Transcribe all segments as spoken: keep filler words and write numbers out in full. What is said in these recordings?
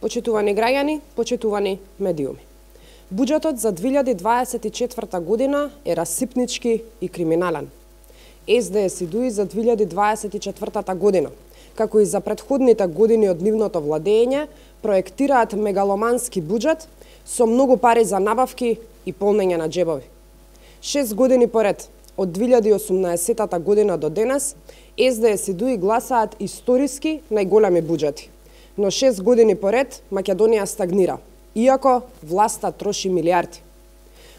Почитувани граѓани, почитувани медиуми. Буџетот за две илјади дваесет и четврта година е расипнички и криминален. Ес Де Ес и ДУИ за две илјади дваесет и четвртата година, како и за претходните години од нивното владење, проектираат мегаломански буџет со многу пари за набавки и полнење на џебови. Шест години поред, од две илјади и осумнаесетата година до денес, Ес Де Ес и ДУИ гласаат историски најголеми буџети. Но шест години поред Македонија стагнира, иако власта троши милиарди.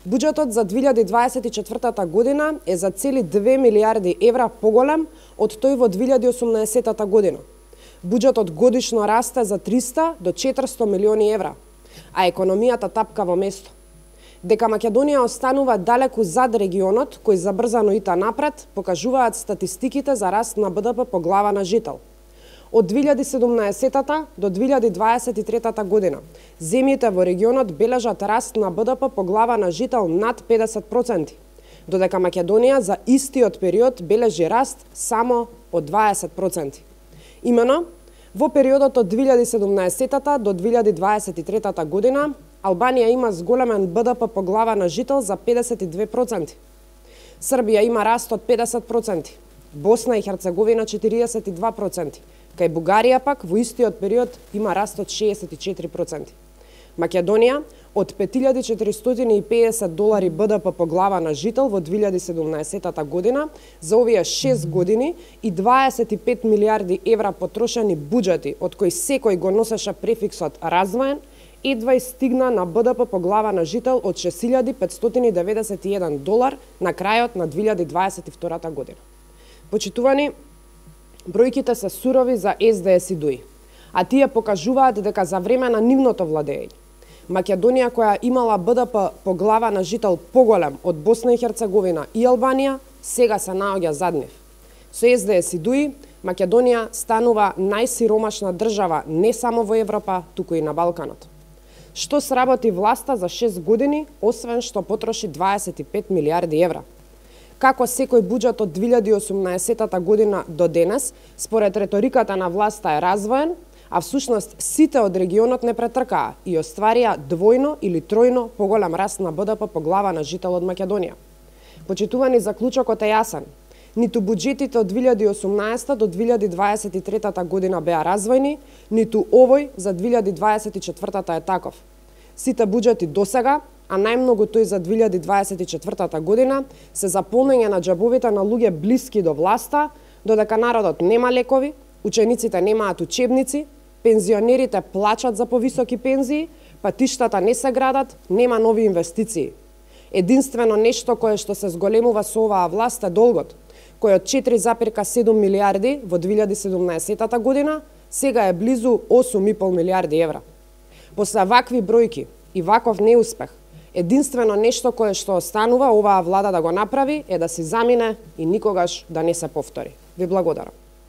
Буџетот за две илјади дваесет и четвртата година е за цели две милиарди евра поголем од тој во две илјади и осумнаесетата година. Буџетот годишно расте за триста до четиристо милиони евра, а економијата тапка во место. Дека Македонија останува далеку зад регионот кој забрзано ита напред, покажуваат статистиките за раст на Б Д П по глава на жител. Од две илјади и седумнаесетата до две илјади дваесет и третата година, земјите во регионот бележат раст на Б Д П по глава на жител над педесет проценти, додека Македонија за истиот период бележи раст само од дваесет проценти. Имено, во периодот од две илјади и седумнаесетата до две илјади дваесет и третата година, Албанија има зголемен Б Д П по глава на жител за педесет и две проценти. Србија има раст од педесет проценти, Босна и Херцеговина четириесет и два проценти, кај Бугарија пак во истиот период има раст од шеесет и четири проценти. Македонија од пет илјади четиристотини и педесет долари Б Д П по глава на жител во две илјади и седумнаесетата година за овие шест години и дваесет и пет милиарди евра потрошени буџети, од кои секој го носеше префиксот развоен, едва и стигна на Б Д П по глава на жител од шест илјади петстотини деветдесет и еден долар на крајот на две илјади дваесет и втората година. Почитувани, бројките се сурови за Ес Де Ес и ДУИ, а тие покажуваат дека за време на нивното владење, Македонија, која имала Б Д П по глава на жител поголем од Босна и Херцеговина и Албанија, сега се наоѓа зад нив. Со Ес Де Ес и ДУИ, Македонија станува најсиромашна држава не само во Европа, туку и на Балканот. Што сработи власта за шест години, освен што потроши дваесет и пет милиарди евра? Како секој буџет од две илјади и осумнаесетата година до денес, според реториката на власта е развоен, а всушност сите од регионот не претркаа и остварија двојно или тројно поголем раст на Б Д П по глава на жител од Македонија. Почитувани, заклучокот е јасен. Ниту буџетите од две илјади и осумнаесета до две илјади дваесет и третата година беа развојни, ниту овој за две илјади дваесет и четвртата е таков. Сите буџети досега, а најмногу тој за две илјади дваесет и четвртата година, се за полнење на џабовите на луѓе блиски до власта, додека народот нема лекови, учениците немаат учебници, пензионерите плачат за повисоки пензии, патиштата не се градат, нема нови инвестиции. Единствено нешто кое што се зголемува со оваа власт е долгот, кој од четири запирка седум милиарди во две илјади и седумнаесетата година, сега е близу осум и пол милиарди евра. После вакви бројки и ваков неуспех, единствено нешто кое што останува оваа влада да го направи е да се замине и никогаш да не се повтори. Ви благодарам.